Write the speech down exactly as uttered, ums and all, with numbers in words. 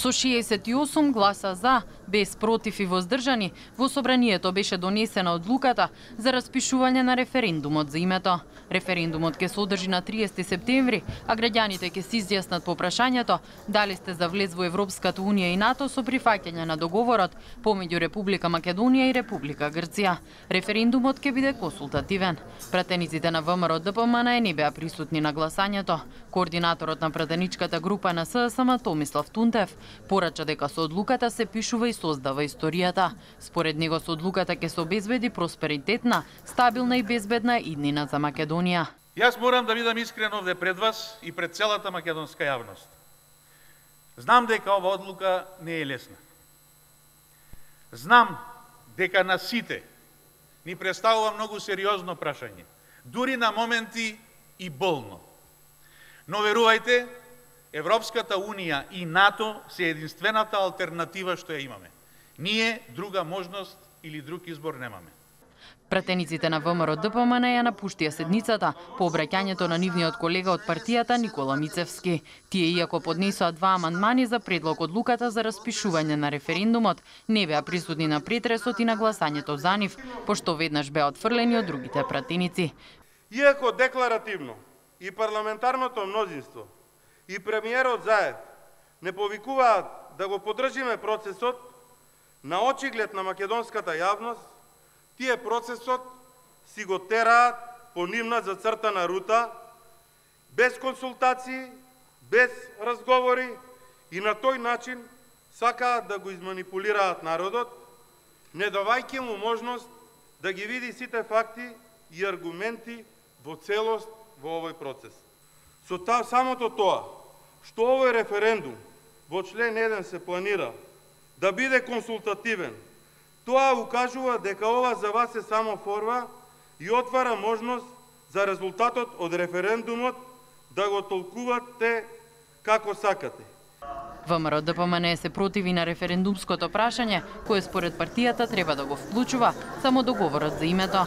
Со шеесет и осум гласа за, без против и воздржани, во собранието беше донесена одлуката за распишување на референдумот за името. Референдумот ќе се одржи на триесети септември, а граѓаните ќе се изјаснат по прашањето дали сте за влез во Европската унија и НАТО со прифаќање на договорот помеѓу Република Македонија и Република Грција. Референдумот ќе биде консултативен. Пратениците на ВМРО Д П М Н не беа присутни на гласањето. Координаторот на пратеничката група на С С М Томислав Тунтев порача дека со одлуката се пишува и создава историјата. Според него со одлуката ќе се обезбеди просперитетна, стабилна и безбедна иднина за Македонија. Јас морам да бидам искрен овде пред вас и пред целата македонска јавност. Знам дека ова одлука не е лесна. Знам дека на сите ни представува многу сериозно прашање, дури на моменти и болно. Но верувајте, Европската унија и НАТО се единствената алтернатива што ја имаме. Ние друга можност или друг избор немаме. Пратениците на ВМРО Д П М Н ја напуштија седницата по обраќањето на нивниот колега од партијата Никола Мицевски. Тие, иако поднесоа два амандмани за предлог одлуката за распишување на референдумот, не беа присутни на претресот и на гласањето за нив, пошто веднаш беа отфрлени од другите пратеници. Иако декларативно и парламентарното мнозинство и премиерот Заев не повикуваат да го поддржиме процесот, на очиглед на македонската јавност, тие процесот си го тераат по нивна зацртана рута, без консултации, без разговори и на тој начин сакаат да го изманипулираат народот, не давајќи му можност да ги види сите факти и аргументи во целост во овој процес. Со та, самото тоа, што овој референдум во член еден се планира да биде консултативен, тоа укажува дека ова за вас е само форма и отвара можност за резултатот од референдумот да го толкувате како сакате. ВМРО Д П М Н се противи на референдумското прашање, кое според партијата треба да го вклучува само договорот за името.